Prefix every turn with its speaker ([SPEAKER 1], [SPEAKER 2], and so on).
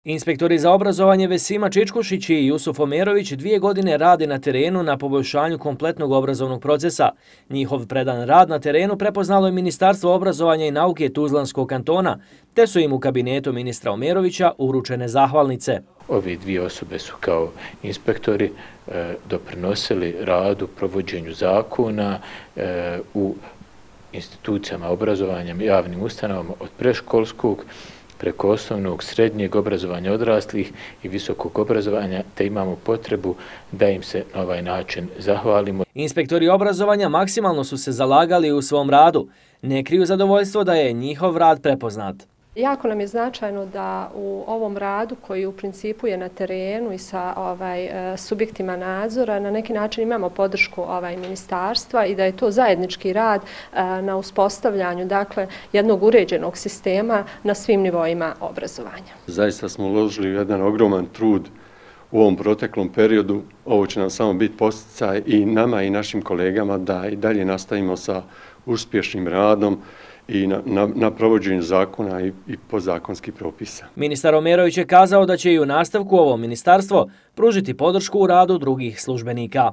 [SPEAKER 1] Inspektori za obrazovanje Vesima Čičkušić i Jusuf Omerović 2 godine rade na terenu na poboljšanju kompletnog obrazovnog procesa. Njihov predan rad na terenu prepoznalo je Ministarstvo obrazovanja i nauke Tuzlanskog kantona, te su im u kabinetu ministra Omerovića uručene zahvalnice.
[SPEAKER 2] Ove dvije osobe su kao inspektori doprinosili radu, provođenju zakona u institucijama obrazovanja, javnim ustanovama od predškolskog preko osnovnog, srednjeg obrazovanja odraslih i visokog obrazovanja, te imamo potrebu da im se na ovaj način zahvalimo.
[SPEAKER 1] Inspektori obrazovanja maksimalno su se zalagali u svom radu. Ne kriju zadovoljstvo da je njihov rad prepoznat.
[SPEAKER 3] Jako nam je značajno da u ovom radu koji u principu je na terenu i sa subjektima nadzora na neki način imamo podršku ministarstva i da je to zajednički rad na uspostavljanju jednog uređenog sistema na svim nivoima obrazovanja.
[SPEAKER 4] Zaista smo uložili jedan ogroman trud u ovom proteklom periodu. Ovo će nam samo biti podsticaj i nama i našim kolegama da i dalje nastavimo sa uspješnim radom i na provođenju zakona i podzakonskih propisa.
[SPEAKER 1] Ministar Omerović je kazao da će i u nastavku ovo ministarstvo pružiti podršku u radu drugih službenika.